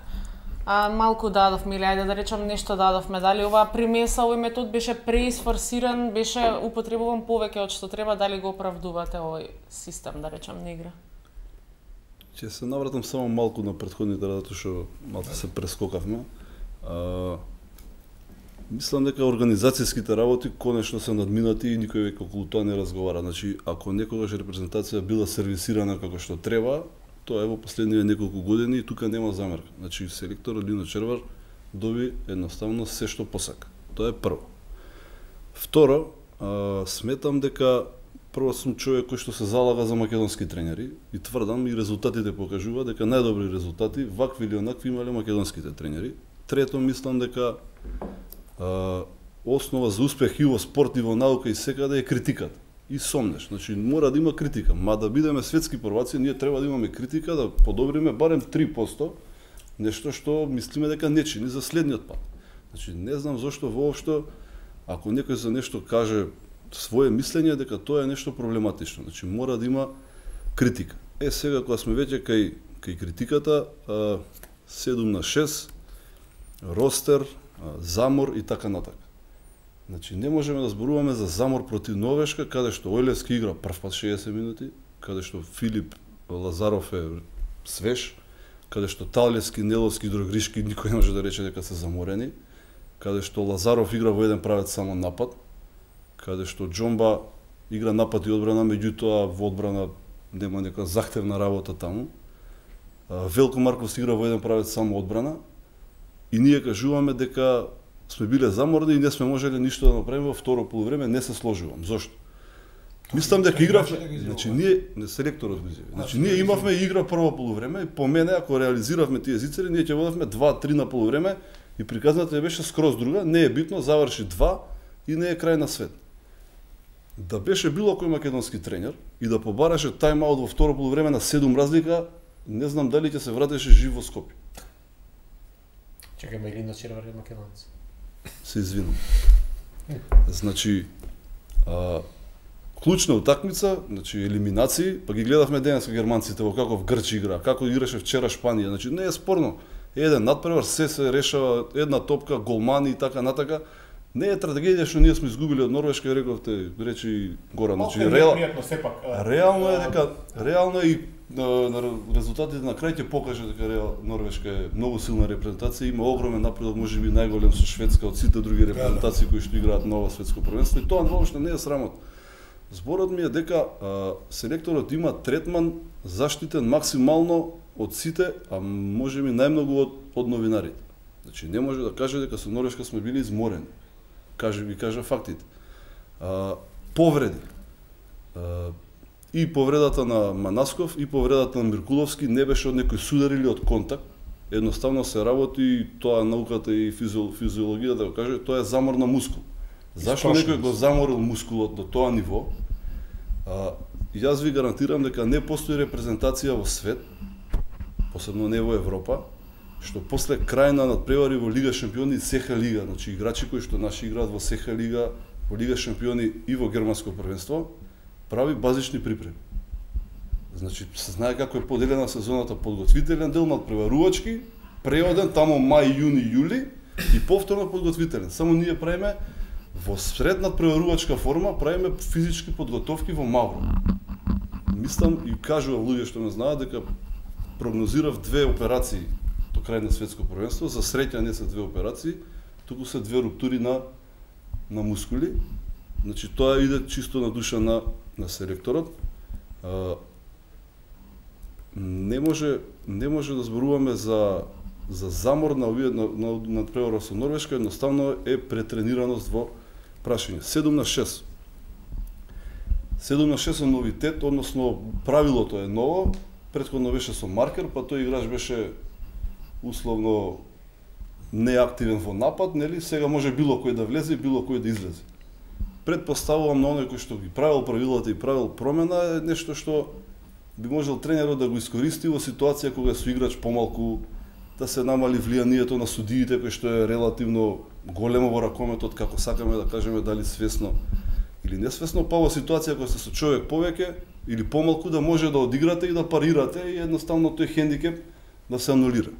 а малку дадовме, или ајде да речам нешто дадовме. Дали оваа примеса, овој метод беше преисфорсиран, беше употребуван повеќе од што треба, дали го оправдувате овој систем, да речам, на игра? Ќе се навратам само малку на претходните, затоа што малку се прескокавме. А, Мислам дека организацијските работи конечно се надминати и никој веќе околу тоа не разговара. Значи, ако некогаш репрезентација била сервисирана како што треба, тоа е во последниве неколку години и тука нема замерка. Значи, селекторот Лино Червар доби едноставно се што посака. Тоа е прво. Второ, а, сметам дека прво сум човек кој што се залага за македонски тренери и тврдам и резултатите покажуваат дека најдобри резултати вакви или онакви имале македонските тренери. Трето, мислам дека а, основа за успех и во спорт и во наука и секаде е критиката. И сомнеш. Значи, мора да има критика. Ма да бидеме светски прваци, ние треба да имаме критика, да подобриме барем три проценти нешто што мислиме дека не чини за следниот пат. Значи, не знам зошто воопшто, ако некој за нешто каже свое мислење, дека тоа е нешто проблематично. Значи, мора да има критика. Е, сега, кога сме веќе кај, кај критиката, а, седум на шест, ростер, а, замор и така натака. Значи, не можеме да зборуваме за замор против Норвешка, каде што Ојлевски игра прв пат шеесет минути, каде што Филип Лазаров е свеж, каде што Талевски, Неловски, Дрогришки никој не може да рече дека се заморени, каде што Лазаров игра во еден правец само напад, каде што Џомба игра напад и одбрана, меѓутоа во одбрана нема нека захтевна работа таму. Велко Марков игра во еден правец само одбрана и ние кажуваме дека сме биле заморни и не сме можеле ништо да направиме во второ полувреме, не се сложувам. Зошто? Мислам дека игравме, значи ние не селекторот го изјави. Значи ние имавме игра прво полувреме и по мене ако реализиравме тие зицери, ние ќе водевме два-три на полувреме и приказната беше скроз друга, не е битно, заврши два и не е крај на свет. Да беше било кој македонски тренер и да побараше тајм-аут во второ полувреме на седум разлика, не знам дали ќе се вратеше жив во Скопје. Чекај, Лино Червар е македонец. Се извинам. Значи, а, клучна утакмица, значи елиминации, па ги гледавме денеска германците во каков грч игра, како играше вчера Шпанија, значи не е спорно. Еден надпревар, се се решава, една топка, голмани и така натака. Не е трагедија што ние сме изгубили од Норвешка, рековте, речи Горан, значи реал... реално е дека реално е и на, на резултатите на крај ќе покаже дека реал Норвешка е многу силна репрезентација, има огромен напредок, можеби најголем со Шведска од сите други репрезентации кои што играат на ова светско првенство и тоа воопшто не е срамот. Зборот ми е дека а, селекторот има третман заштитен максимално од сите, а можеби најмногу од, од новинарите. Значи не може да каже дека со Норвешка сме били изморени. Каже ви кажа фактите. А, повреди. А, и повредата на Манасков и повредата на Миркуловски не беше од некој судар или од контакт. Едноставно се работи, тоа науката и физиологија да го каже, тоа е замор на мускул. Зашто некој го заморил мускулот до тоа ниво? А, јас ви гарантирам дека не постои репрезентација во свет, посебно не во Европа, што после крај на надпревари во Лига шампиони и СХ лига, значи играчи кои што наши играат во СХ лига, во Лига шампиони и во германско првенство, прави базични припреми. Значи се знае како е поделена сезоната: подготвителен дел, надпреварувачки, преоден таму мај, јуни, јули и повторно подготвителен. Само ние правиме во сред надпреварувачка форма, правиме физички подготовки во Мавро. Мислам и кажувам луѓе што ме знаат дека прогнозирав две операции до крај на светско првенство. За среќа не се две операции, туку се две руптури на на мускули. Значи тоа иде чисто на душа на на селекторот. А, не може не може да зборуваме за за замор на овие на на, на преварот со Норвешка, едноставно е претренираност во прашање. седум на шест. седум на шест е новитет, односно правилото е ново. Претходно беше со маркер, па тој играч беше условно неактивен во напад, нели? Сега може било кој да влезе и било кој да излезе. Предпоставувам на оној кој што ги правил правилата и правил промена е нешто што би можел тренерот да го искористи во ситуација кога со играч помалку, да се намали влијанието на судиите, кој што е релативно големо во ракометот, како сакаме да кажеме, дали свесно или несвесно, па во ситуација кога се со човек повеќе или помалку да може да одиграте и да парирате и едноставно тој хендикеп да се анулира.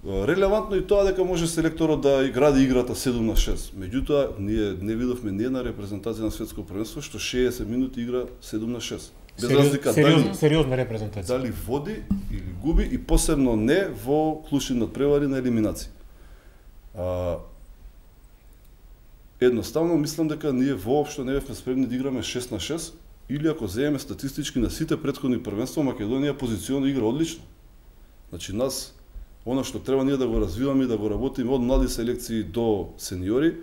Релевантно и тоа дека може селекторот да гради играта седум на шест. Меѓутоа, ние не видовме ни една репрезентација на светско првенство што шеесет минути игра седум на шест. Без разлика дали сериозна репрезентација. Дали води или губи и посебно не во клучни надпревари на елиминација. А, едноставно мислам дека ние воопшто не бевме спремни да играме шест на шест, или ако земеме статистички на сите претходни првенства, Македонија позиционно игра одлично. Значи нас, она што треба ние да го развиваме и да го работиме од млади селекции до сениори,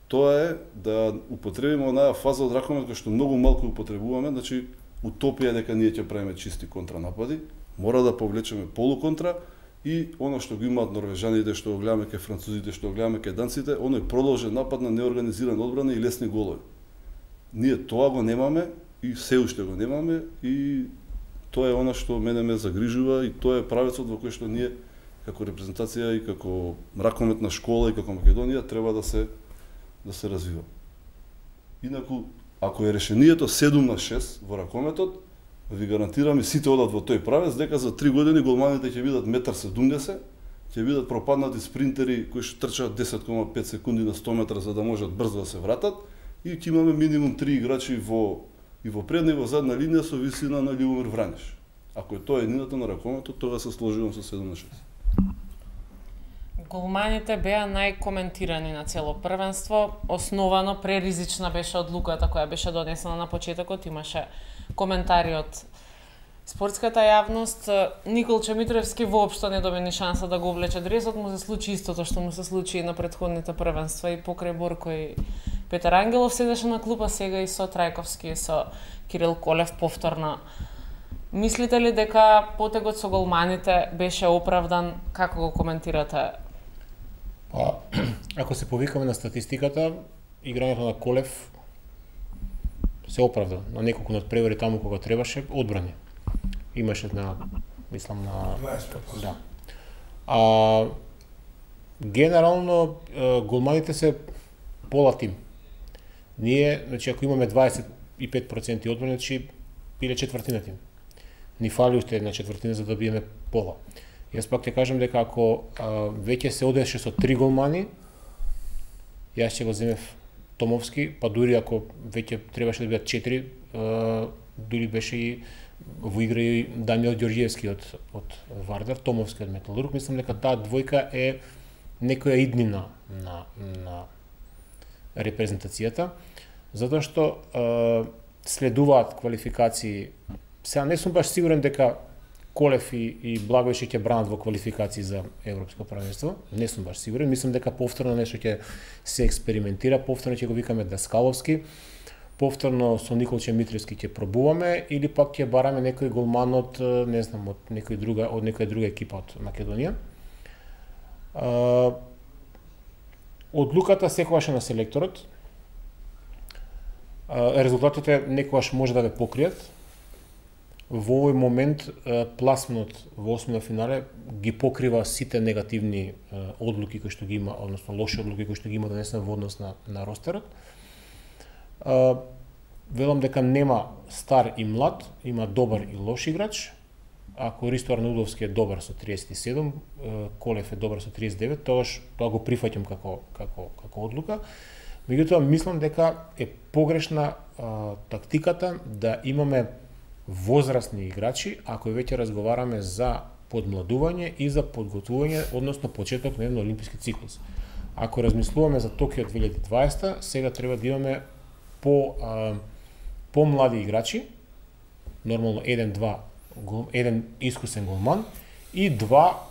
тоа е да употребиме онаа фаза од ракомет која што многу малку употребуваме, значи утопија дека ние ќе правиме чисти контранапади, мора да повлечеме полуконтра и оно што го имаат норвежаните, што го гледаме кај французите, што го гледаме кај данците, оној продолжен напад на неорганизирана одбрана и лесни голови. Ние тоа го немаме и се уште го немаме и тоа е она што мене ме загрижува и тоа е правецот во кој што ние како репрезентација и како ракометна школа и како Македонија треба да се да се развива. Инаку, ако е решението седум на шест во ракометот, ви гарантирам и сите одат во тој правец, дека за три години голманите ќе бидат еден седумдесет метри, ќе бидат пропаднати спринтери кои што трчаат десет кома пет секунди на сто метра за да можат брзо да се вратат и ќе имаме минимум три играчи во и во предна и во задна линија со висина на Љубомир Враниш. Ако е тоа едината на ракометот, тога се сложувам со седум на шест. Голманите беа најкоментирани на цело првенство, основано преризична беше одлуката која беше донесена на почетокот, имаше коментари од спортската јавност. Николче Митревски воопшто не доби ни шанса да го облече дресот, му се случи истото што му се случи и на претходните првенства и покрај Борко и Петар Ангелов седеше на клупа, сега и со Трајковски и со Кирил Колев повторно. Мислите ли дека потегот со голманите беше оправдан? Како го коментирате? Па, ако се повикаме на статистиката, играњето на Колев се оправда. На неколку надпревари таму кога требаше, одбрани. Имаше на, мислам на... Да. А, генерално, голманите се пола тим. Ние, значи, ако имаме дваесет и пет проценти одбрани, значи, биле четвртина тим. Ни фали уште една четвртина за да биеме пола. Јас пак ќе кажам дека ако а, веќе се одеше со три голмани, јас ќе го земев Томовски, па дури ако веќе требаше да бидат четири, а, дури беше и во игра и Дамјан Ѓорѓиевски од од Вардар, Томовски од Металург, мислам дека таа двојка е некоја иднина на на репрезентацијата, затоа што а, следуваат квалификации. Сега не сум баш сигурен дека Колев и, и Благојче ќе бранат во квалификации за Европско првенство. Не сум баш сигурен. Мислам дека повторно нешто ќе се експериментира, повторно ќе го викаме Даскаловски, повторно со Николче Митревски ќе пробуваме или пак ќе бараме некој голман од, не знам, од некој друга, од некоја друга екипа од Македонија. Одлуката секогаш е на селекторот. Резултатите некогаш може да ве покријат. Во овој момент пласманот во осмина финале ги покрива сите негативни одлуки кои што ги има, односно лоши одлуки кои што ги има донесен во однос на на ростерот. Велам дека нема стар и млад, има добар и лош играч. Ако Ристо Арнаудовски е добар со триесет и седум, Колев е добар со триесет и девет, тогаш тоа го прифаќам како како како одлука. Меѓутоа мислам дека е погрешна а, тактиката да имаме возрастни играчи, ако веќе разговараме за подмладување и за подготвување, односно почеток на еден олимписки циклус. Ако размислуваме за Токио две илјади и дваесета, сега треба да имаме по а, по млади играчи, нормално еден-два, еден искусен голман и два,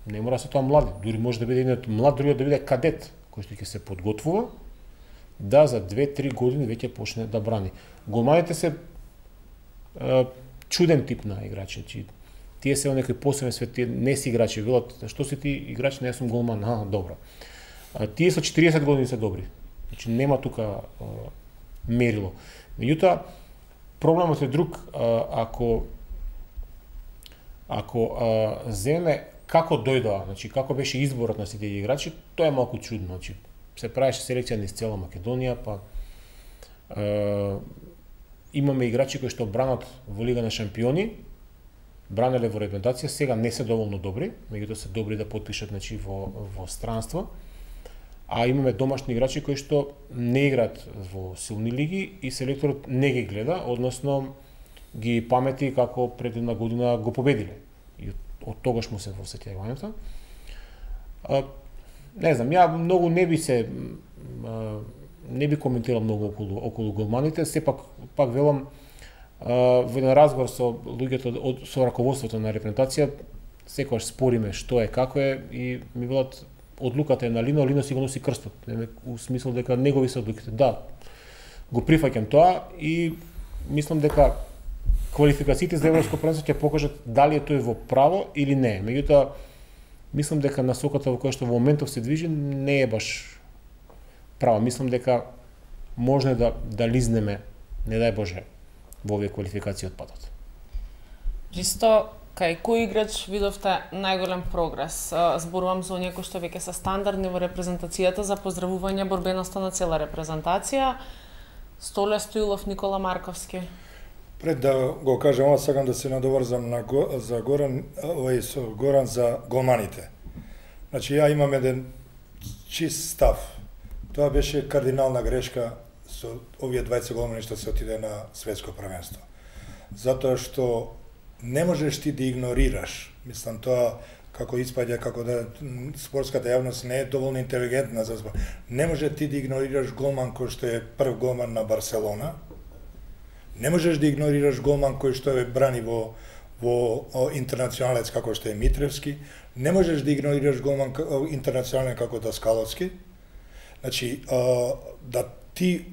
не мора се тоа млади, дури може да биде еден млад, другиот да биде кадет, кој што ќе се подготвува, да за две-три години веќе почне да брани. Голманите се а, чуден тип на играчи, чи тие се во некој посебен свет, тие не си играчи, велат, што си ти играч, не сум голман, а, добро. А, тие со четириесет години се добри, значи нема тука а, мерило. Меѓутоа, проблемот е друг, а, ако ако а, земе како дојдоа, значи како беше изборот на сите играчи, тоа е малку чудно, значи се правеше селекција низ цела Македонија, па а, имаме играчи кои што бранат во Лига на шампиони, бранеле во репрезентација, сега не се доволно добри, меѓутоа се добри да потпишат, значи во во странство. А имаме домашни играчи кои што не играат во силни лиги и селекторот не ги гледа, односно ги памети како пред една година го победиле. И од, од тогаш му се во сеќавањето. Не знам, ја многу не би се а, не би коментирал многу околу околу голманите, сепак пак велам во еден разговор со луѓето од со раководството на репрезентација секогаш спориме што е, како е и ми велат одлуката е на Лино, Лино си го носи крстот, у смисол дека негови се одлуките. Да, го прифаќам тоа и мислам дека квалификациите за европско првенство ќе покажат дали е тој во право или не. Меѓутоа, мислам дека насоката во која што во моментов се движи не е баш права. Мислам дека можно да да лизнеме, не дај Боже, во овие квалификации од патот. Чисто кај кој играч видовте најголем прогрес? Зборувам за оние кои што веќе се стандардни во репрезентацијата за поздравување борбеноста на цела репрезентација. Столе Стоилов, Никола Марковски. Пред да го кажам, ова сакам да се надоврзам на го, за Горан, овај со Горан за голманите. Значи ја имам еден чист став. Тоа беше кардинална грешка со овие дваесет голмани што се отиде на светско првенство. Затоа што не можеш ти да игнорираш. Мислам тоа како испаѓа, како да спортската јавност не е доволно интелигентна за збор. Не може ти да игнорираш голман кој што е прв голман на Барселона. Не можеш да игнорираш голман кој што е брани во во интернационалец како што е Митревски. Не можеш да игнорираш голман интернационален како Даскаловски. Значи, да ти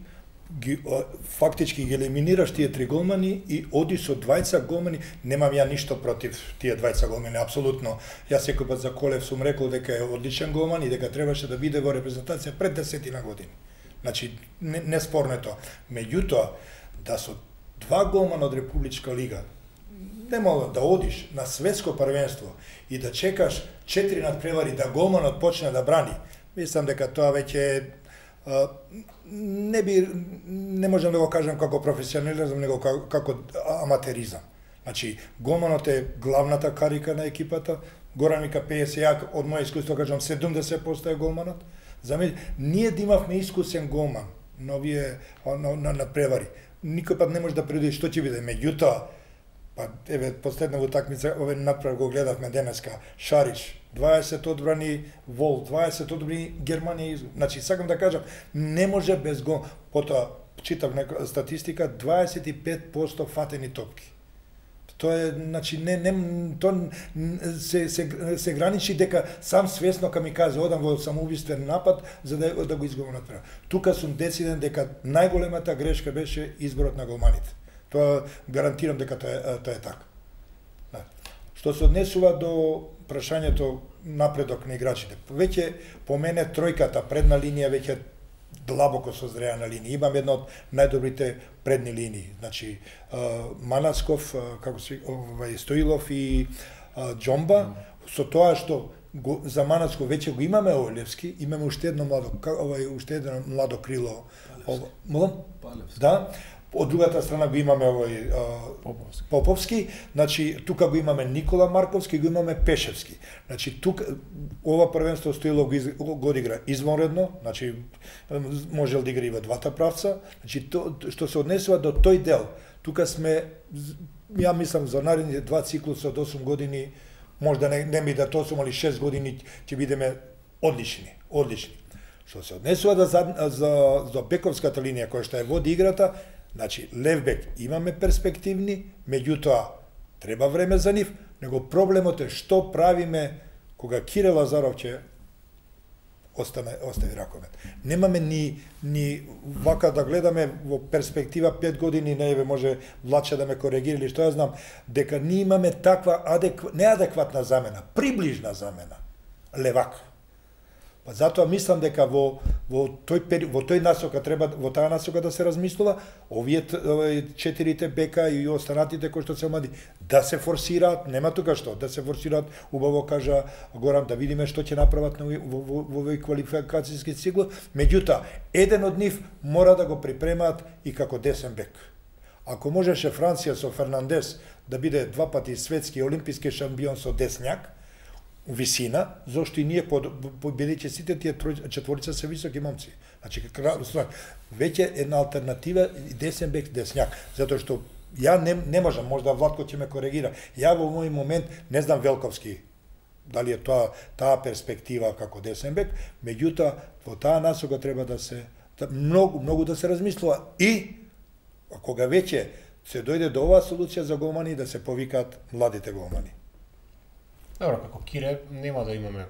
ги, фактички ги елиминираш тие три голмани и оди со дваесет голмани, немам ја ништо против тие дваесет голмани, апсолутно. Јас секој пат за Колев сум рекол дека е одличен голман и дека требаше да биде во репрезентација пред десетина години. Значи, не, не спорно е тоа. Меѓутоа, да со два голмана од Републичка лига, не мога да одиш на светско првенство и да чекаш четири надпревари да голманот почне да брани, мислам дека тоа веќе не би не можам да го кажам како професионализам, него како, како аматеризам. Значи, голманот е главната карика на екипата. Горан вика пеесет, ја од моје искуство кажам седумдесет проценти е голманот. За мене ние да имавме искусен голман на овие на, на, на превари. Никој пат не може да предвиди што ќе биде. Меѓутоа, па еве последна утакмица ове направ го гледавме денеска. Шариш дваесет одбрани, Вол дваесет одбрани, Германија. Значи сакам да кажам, не може без гол. Потоа читав нека статистика, дваесет и пет проценти фатени топки. Тоа е, значи, не, не, тоа се, се, се граничи дека сам свесно камиказе одам во самоубиствен напад за да, да го изгубам на трена. Тука сум дециден дека најголемата грешка беше изборот на голманите. Тоа гарантирам дека тоа е, тоа е така. Да. Што се однесува до прашањето напредок на играчите. Веќе по мене тројката предна линија веќе длабоко созреа на линија. Имам една од најдобрите предни линии. Значи, Манацков, како се, овај Стоилов и Џомба, со тоа што го, за Манацков веќе го имаме Олевски, имаме уште едно младо, овај уште едно младо крило. Палевски. Да. Од другата страна го имаме овој Поповски. Поповски, значи тука го имаме Никола Марковски, го имаме Пешевски. Значи тука ова првенство Стоилов го, из, го одигра извонредно, значи можел да игра и во двата правца. Значи то што се однесува до тој дел, тука сме, ја мислам за наредните два циклуса од осум години, можда не, не ми да осум али шест години ќе бидеме одлични, одлични. Што се однесува да за, за, за бековската линија која што е води играта, значи, левбек имаме перспективни, меѓутоа треба време за нив, него проблемот е што правиме кога Кире Лазаров ќе остане остави раковет. Немаме ни ни вака да гледаме во перспектива пет години, не еве може Влаче да ме коригира или што ја знам, дека ние имаме таква адекв... неадекватна замена, приближна замена. Левак. Па затоа мислам дека во во тој пери, во тој насока треба во таа насока да се размислува, овие четирите бека и останатите кои што се млади да се форсираат, нема тука што, да се форсираат, убаво кажа Горан, да видиме што ќе направат во во во овој квалификацијски цикл, меѓутоа еден од нив мора да го припремаат и како десен бек. Ако можеше Франција со Фернандес да биде два пати светски олимписки шампион со десњак, висина, зошто и ние победиќе сите тие четворица се високи момци. Значи, веќе една алтернатива десен бек десњак, затоа што ја не, не можам, можда Владко ќе ме коригира. Ја во мој момент не знам Велковски дали е тоа таа перспектива како десен бек, меѓутоа во таа насока треба да се Многу, многу да се размислува и а кога веќе се дојде до оваа солуција за голмани, да се повикаат младите голмани. Добро, како Кире нема да имаме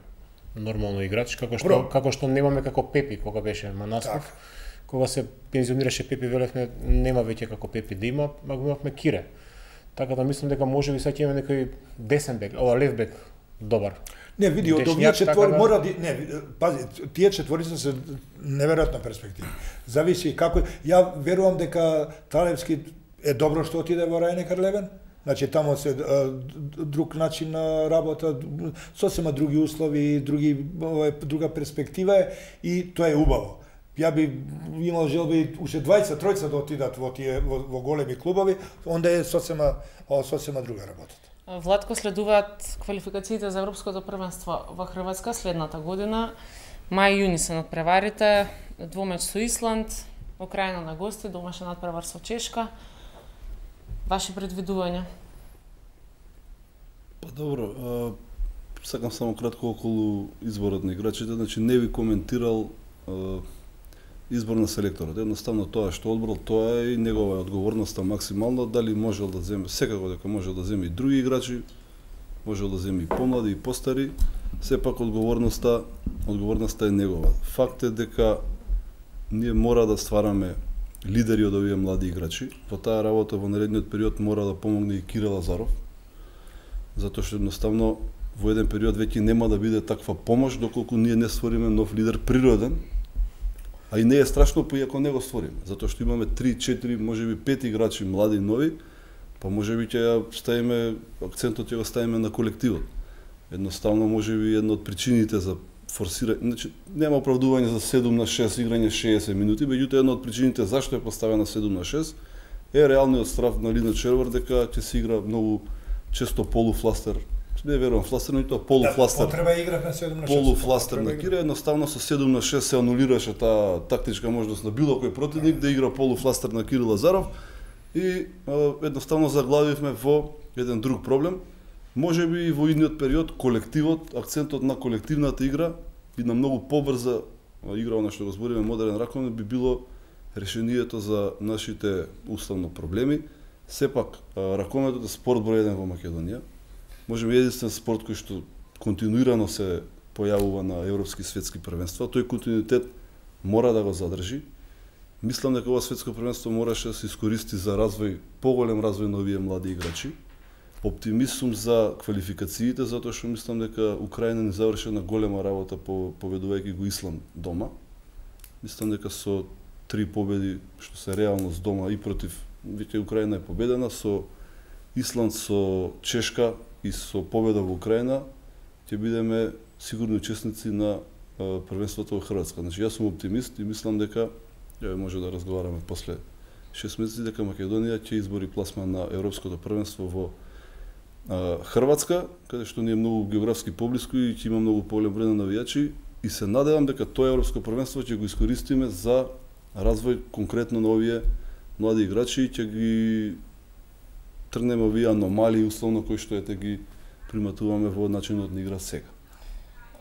нормално играч, како што Бро. како што немаме како Пепи кога беше Манасков. Так. Кога се пензионираше Пепи, велевме нема веќе како Пепи да има, а го имавме Кире. Така да мислам дека можеби сега ќе имаме некој десен бек, ова лев бек добар. Не, види, од Дешњак, овие четвори така да- мора да... Не, пази, тие четворица се неверојатна перспектива. Зависи како... Ја верувам дека Талевски е добро што отиде во Рајне Левен. Значи, тамо се а, друг начин на работа, сосема други услови, други, ова е друга перспектива е и тоа е убаво. Ја би имал желби уште двајцет тројца да отидат во тие во, во големи клубови, онда е сосема о, сосема друга работа. Владко, следуваат квалификациите за Европското првенство во Хрватска следната година. Мај-јуни се надпреварите, двумеч со Исланд, Украина на гости, домашен надпревар со Чешка. Ваши предвидувања? Па добро, а, сакам само кратко околу изборот на играчите, значи не ви коментирал а, избор на селекторот. Едноставно тоа што одбрал, тоа е и негова одговорноста максимално, дали можел да земе, секако дека можел да земе и други играчи, можел да земе и помлади и постари, сепак одговорноста, одговорноста е негова. Факт е дека ние мора да ствараме лидери од овие млади играчи. Во таа работа во наредниот период мора да помогне и Кирил Лазаров, затоа што едноставно во еден период веќе нема да биде таква помош доколку ние не створиме нов лидер природен. А и не е страшно па и ако не го створиме, затоа што имаме три, четири, можеби пет играчи млади нови, па можеби ќе ја ставиме акцентот ќе го ставиме на колективот. Едноставно можеби една од причините за форсирање, значи нема оправдување за седум на шест играње шеесет минути, меѓутоа една од причините зашто е поставена седум на шест е реалниот страф на Лина Червар дека ќе се игра многу често полуфластер. Не верувам фластер, но и тоа полуфластер. Да, потреба игра на седум на шест. Полуфластер на Кире, едноставно со седум на шест се анулираше таа тактичка можност на било кој противник да игра полуфластер на Кирил Лазаров и а, едноставно заглавивме во еден друг проблем. Можеби и во идниот период колективот, акцентот на колективната игра и на многу побрза игра на што го збориме модерен раковник би било решението за нашите уставно проблеми. Сепак ракометот е спорт број еден во Македонија. Можеби единствен спорт кој што континуирано се појавува на европски светски првенства, тој континуитет мора да го задржи. Мислам дека ова светско првенство мораше да се искористи за развој, поголем развој на овие млади играчи. Оптимист сум за квалификациите, затоа што мислам дека Украина ни заврши една голема работа по победувајќи го Исланд дома. Мислам дека со три победи, што се реалност дома и против, веќе Украина е победена, со Исланд, со Чешка и со победа во Украина, ќе бидеме сигурни учесници на а, првенството во Хрватска. Значи, јас сум оптимист и мислам дека, ја може да разговараме после шест месеци, дека Македонија ќе избори пласма на Европското првенство во а, Хрватска, каде што ни е многу географски поблиску и ќе има многу поголем број на навијачи и се надевам дека тоа Европско првенство ќе го искористиме за развој конкретно на овие млади играчи и ќе ги тргнеме овие аномалии условно кои што ете ги приматуваме во начинот на игра сега.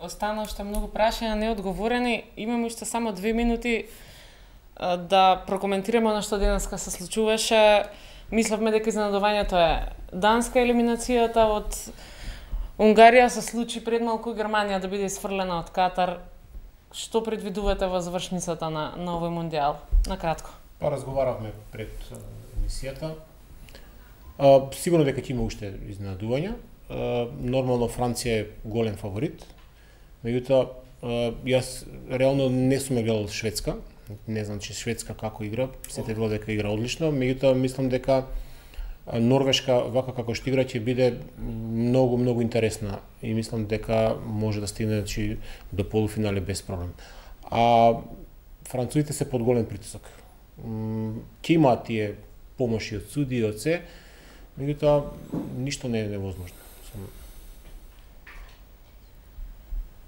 Остана уште многу прашања неодговорени. Имаме уште само две минути а, да прокоментираме она што денеска се случуваше. Мислевме дека изненадувањето е данска елиминацијата од Унгарија, се случи пред малку Германија да биде изфрлена од Катар. Што предвидувате во завршницата на, на овој мондијал? Накратко. Па разговаравме пред а, емисијата. А, сигурно дека ќе има уште изненадувања. А, нормално Франција е голем фаворит. Меѓутоа, јас реално не сум гледал Шведска. Не знам че Шведска како игра, сите велат дека игра одлично, меѓутоа мислам дека Норвешка вака како што игра ќе биде многу многу интересна и мислам дека може да стигне значи до полуфинале без проблем. А французите се под голем притисок. Ќе имаат тие помоши од суди и од се, меѓутоа ништо не е невозможно.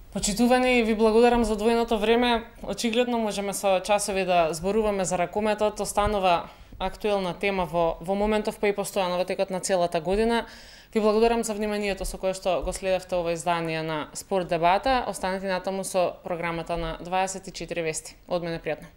Почитувани, ви благодарам за одвоеното време. Очигледно можеме со часови да зборуваме за ракометот, останува актуелна тема во, во моментов, па и постојано во текот на целата година. Ви благодарам за вниманието со кое што го следевте ова издание на Спорт дебата. Останете натаму со програмата на дваесет и четири вести. Од мене пријатно.